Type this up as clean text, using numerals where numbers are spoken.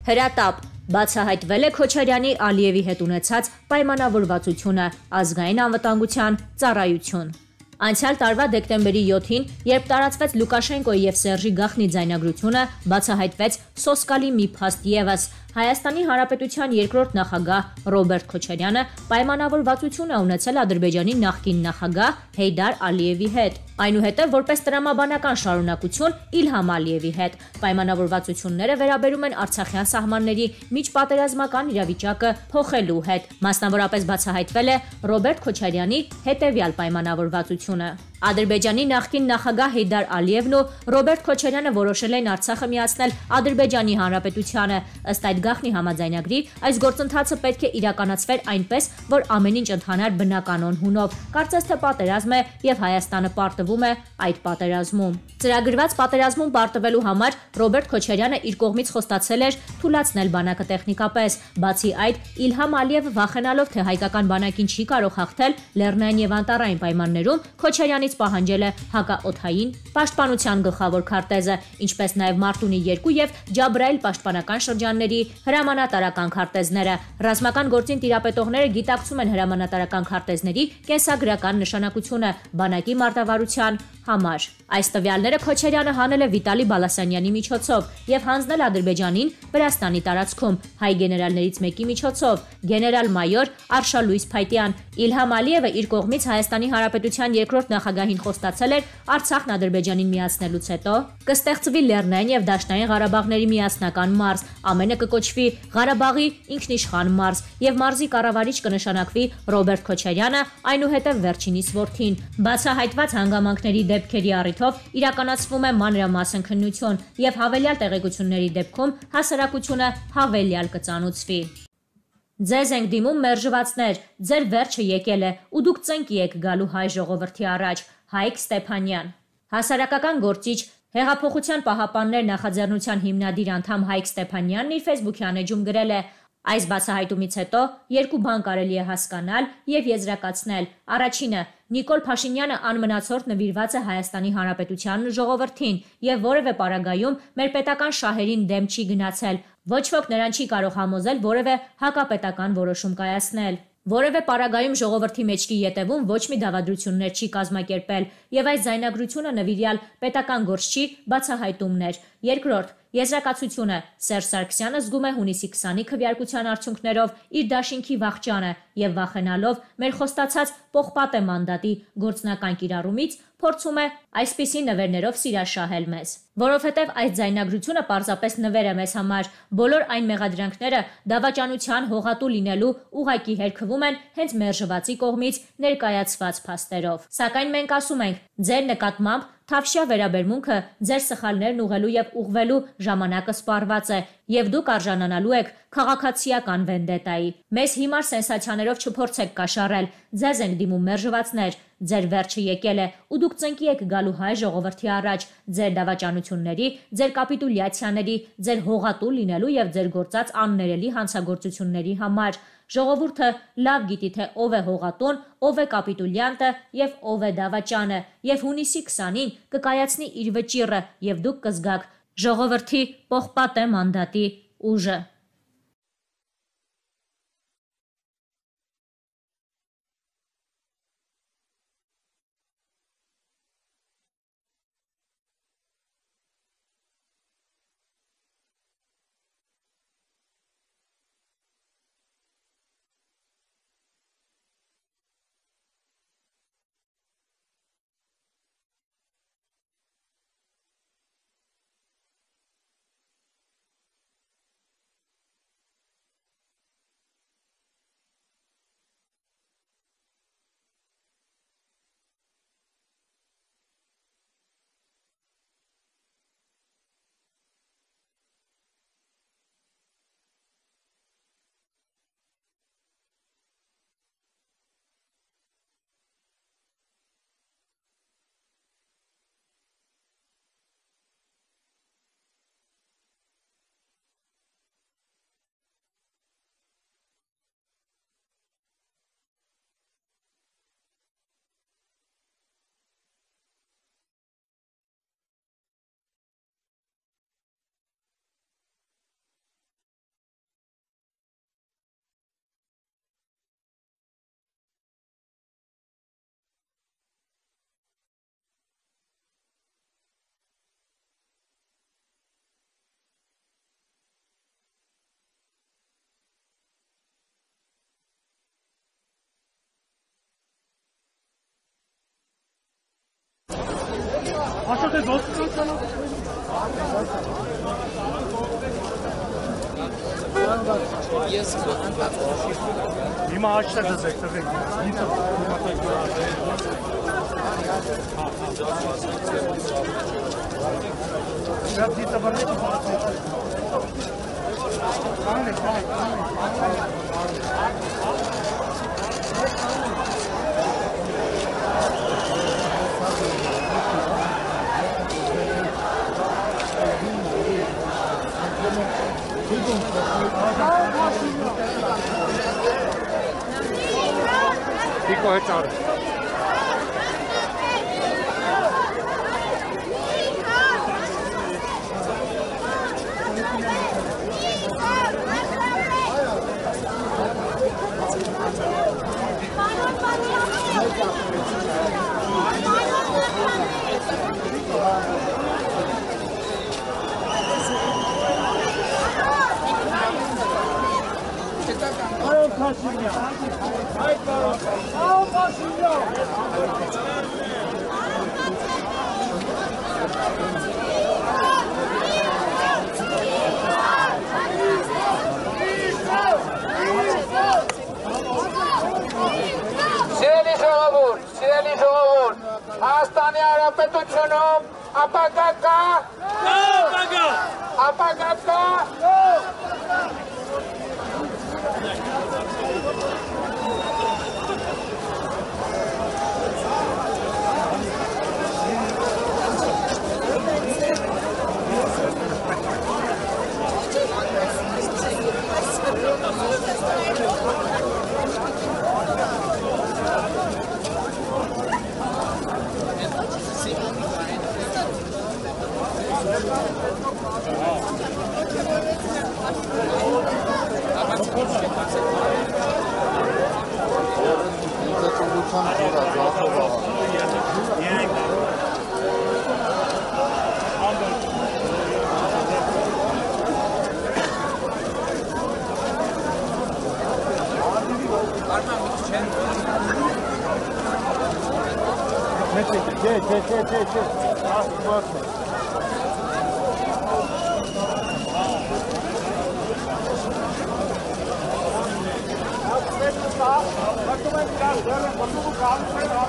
Հրատապ. բացահայտվել է Քոչարյանի Ալիևի հետ ունեցած պայմանավորվածությունը, ազգային անվտանգության ծառայություն։ Անցյալ տարվա դեկտեմբերի 7-ին, երբ տարածվեց Լուկաշենկոյի եւ Սերժի Գախնի ձայնագրությունը, բացահայտվեց սոսկալի մի փաստ ևս։ Հայաստանի Հանրապետության երկրորդ նախագահ Ռոբերտ Քոչարյանը պայմանավորվածություն է ունեցել Ադրբեջանի նախկին նախագահ Հեյդար Ալիևի հետ, այնուհետև որպես տրամաբանական շարունակություն Իլհամ Ալիևի հետ։ Պայմանավորվածությունները վերաբերում են արցախյան սահմանների միջպատերազմական իրավիճակը փոխելու հետ։ Մասնավորապես բացահայտվել է Ռոբերտ Քոչարյանի հետևյալ պայմանավորվածությունը։ Ադրբեջանի նախկին նախագահ Հեյդար Ալիևն ու Ռոբերտ Քոչարյանը որոշել են Արցախը միացնել Ադրբեջանի Հանրապետությանը։ Ըստ այդ Գախնի համաձայնագրի, այս գործընթացը պետք է իրականացվեր այնպես, որ ամեն ինչ ընթանար բնականon հունով։ Կարծես թե պատերազմ է եւ Հայաստանը պարտվում է այդ պատերազմում։ Ծրագրված պատերազմում պարտվելու համար Ռոբերտ Քոչարյանը իր կողմից խոստացել էր թույլատրել բանակը տեխնիկապես։ Բացի այդ, Իլհամ Ալիևը վախենալով, թե հայկական բանակին չի կարող հաղթել լեռնային եւ անտառային պայմաններում, Քոչարյանից պահանջել է հակաօդային պաշտպանության գլխավոր քարտեզը, ինչպես նաև Մարտունի 2 եւ Ջաբրայել պաշտպանական շրջանների հրամանատարական քարտեզները։ Ռազմական գործին տիրապետողները գիտակցում են հրամանատարական քարտեզների կենսագրական նշանակությունը բանակի մարտավարության համար։ Այս տվյալները Քոչարյանը հանել է Վիտալի Բալասանյանի միջոցով եւ հանձնել Ադրբեջանին Վրաստանի տարածքում հայ գեներալներից մեկի միջոցով, գեներալ-մայոր Արշալույս Փայտյան։ Իլհամ Ալիևը իր կողմից Հայաստանի Հանրապետության երկրորդ նախագահին խոստացել էր Արցախն Ադրբեջանին միացնելուց հետո կստեղծվի Լեռնային եւ Դաշնային Ղարաբաղների միասնական մարզ, ամենը կկոչվի Ղարաբաղի ինքնիշխան մարզ եւ մարզի կառավարիչ կնշանակվի Ռոբերտ Քոչարյանը, այնուհետև վերջինիս որդին։ Բացահայտված հանգամանքների դեպքերի առիթով իրականացվում է մանրամասն քննություն եւ հավելյալ տեղեկությունների դեպքում հասարակությունը հավելյալ կծանուցվի։ Ձեզ ենք դիմում մերժվածներ, ձեր վերջը եկել է ու դուք ծնկի եք գալու հայ ժողովրդի առաջ։ Հայկ Ստեփանյան։ Հասարակական գործիչ, Հեղափոխության պահապաններ նախաձեռնության հիմնադիր անդամ Հայկ Ստեփանյանն իր Facebook-յան էջում գրել է. Այս բացահայտումից հետո երկու բան կարելի է հասկանալ եւ եզրակացնել։ Առաջինը, Նիկոլ Փաշինյանը անմնացորդ նվիրված է Հայաստանի Հանրապետությանն ու ժողովրդին եւ որևէ պարագայում մեր պետական շահերին դեմ չի գնացել։ Ոչ ոք նրան չի կարող համոզել որևէ հակապետական որոշում կայացնել։ Որևէ պարագայում ժողովրդի մեջքի ետևում ոչ մի դավադրություններ չի կազմակերպել եւ այս ձայնագրությունը նվիրյալ պետական գործչի բացահայտումն էր։ Երկրորդ, եզրակացությունը Սերժ Սարգսյանը զգում է հունիսի 20-ի քվեարկության արդյունքներով իր դաշինքի վախճանը եւ վախենալով մեր խոստացած պողպատե մանդատի գործնական կիրառումից փորձում է այսպիսի նվերներով սիրաշահել մեզ։ Որովհետև այս ձայնագրությունը պարզապես նվեր է մեզ համար, բոլոր այն մեղադրանքները դավաճանության հողատու լինելու ուղղակի հերքվում են հենց մերժվածի կողմից ներկայացված փաստերով։ Սակայն մենք ասում ենք, ձեր նկատմամբ թավշյա վերաբերմունքը, ձեր սխալներն ուղղելու եւ ուղղվելու ժամանակը սպառված է, եւ դուք արժանանալու եք քաղաքացիական վենդետայի։ Մեզ հիմար սենսացիաներով չփորձեք կաշառել, ձեզ ենք դիմում մերժվածներ, ձեր վերջը եկել է ու դուք ծնկի եք գալու հայ ժողովրդի առաջ, ձեր դավաճանությունների, ձեր կապիտուլյացիաների, ձեր հողատու լինելու եւ ձեր գործած աններելի հանցագործությունների համար։ Ժողովուրդը լավ գիտի, թե ով է հողատուն, ով է կապիտուլյանտը եւ ով է դավաճանը, եւ հունիսի 20-ին կկայացնի իր վճիռը եւ դուք կզգաք ժողովրդի պողպատե մանդատի ուժը։ Հիմա աչքա դզեք, տղեկ։ Շատ դիտը բռնեք։ Pico hectare. Սիրելի ժողովուրդ, Հայաստանի Հանրապետությունում ապագա կա, ապագա կա,